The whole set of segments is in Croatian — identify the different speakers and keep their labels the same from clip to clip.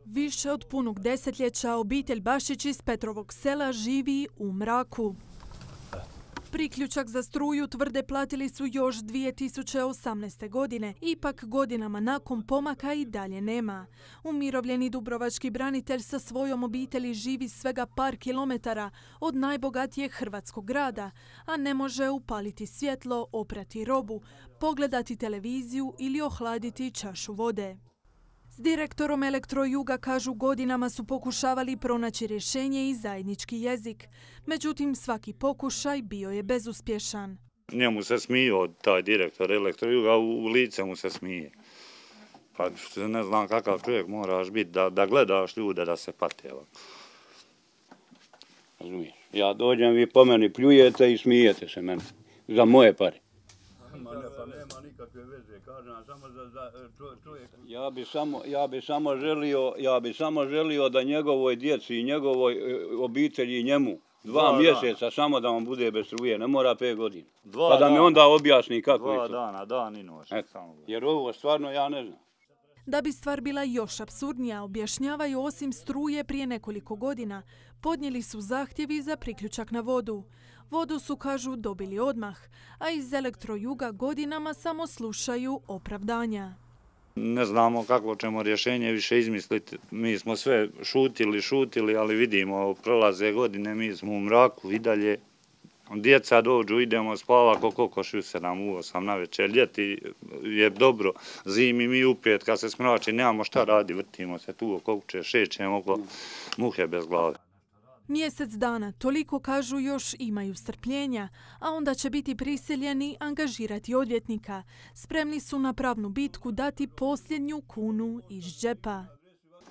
Speaker 1: Više od punog desetljeća obitelj Bašić iz Petrovog sela živi u mraku. Priključak za struju, tvrde, platili su još 2018. godine. Ipak godinama nakon pomaka i dalje nema. Umirovljeni dubrovački branitelj sa svojom obitelji živi svega par kilometara od najbogatijeg hrvatskog grada, a ne može upaliti svjetlo, oprati robu, pogledati televiziju ili ohladiti čašu vode. S direktorom Elektrojuga, kažu, godinama su pokušavali pronaći rješenje i zajednički jezik. Međutim, svaki pokušaj bio je bezuspješan.
Speaker 2: Njemu se smio taj direktor Elektrojuga, u lice mu se smije. Pa ne znam kakav čovjek moraš biti da gledaš ljude da se pate.
Speaker 3: Razumiješ? Ja dođem, vi po meni pljujete i smijete se meni. Za moje pare.
Speaker 2: Nema nikakve veze, kažem, samo za čovjek.
Speaker 3: Ja bi samo želio da njegovoj djeci i njegovoj obitelji i njemu 2 mjeseca samo da vam bude bez struje, ne mora 5 godina. Pa da mi onda objasni kako je to.
Speaker 2: 2 dana, dan i noć.
Speaker 3: Jer ovo stvarno ja ne znam.
Speaker 1: Da bi stvar bila još apsurdnija, objašnjavaju, osim struje prije nekoliko godina podnijeli su zahtjevi za priključak na vodu. Vodu su, kažu, dobili odmah, a iz Elektrojuga godinama samo slušaju opravdanja.
Speaker 2: Ne znamo kako ćemo rješenje više izmisliti. Mi smo sve šutili, ali vidimo, prolaze godine, mi smo u mraku i dalje. Djeca dođu, idemo spava ko kokoši u 7, u 8 navečer. Ljeti je dobro, zimi mi u 5, kad se smrači, nemamo šta radi, vrtimo se tu oko kuće, šećemo oko muhe bez glave.
Speaker 1: Mjesec dana, toliko, kažu, još imaju strpljenja, a onda će biti prisiljeni angažirati odvjetnika. Spremni su na pravnu bitku dati posljednju kunu iz džepa.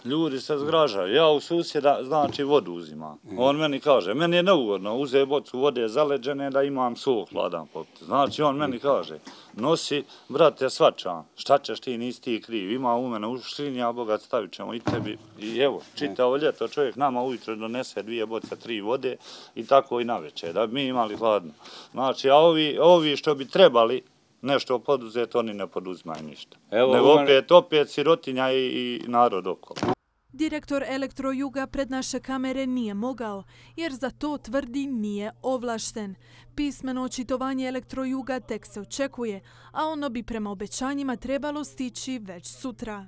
Speaker 2: Ljudi se zgražaju. Ja u susjeda, znači, vodu uzimam. On meni kaže, meni je neugodno, uze bocu vode zaleđene da imam sol hladan popiti. Znači, on meni kaže, nosi, brate, svačam, šta ćeš ti, nisi ti kriv, ima u mene u škrinji, a bogat stavit ćemo i tebi. I evo, čitavo ljeto čovjek nama ujutro donese 2 boce, 3 vode i tako i navečer, da bi mi imali hladno. Znači, a ovi što bi trebali nešto poduzeti, oni ne poduzimaju ništa. Nego opet sirotinja i narod okolo.
Speaker 1: Direktor Elektrojuga pred naše kamere nije mogao, jer za to, tvrdi, nije ovlašten. Pismeno očitovanje Elektrojuga tek se očekuje, a ono bi prema obećanjima trebalo stići već sutra.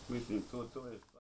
Speaker 2: Mislim, to je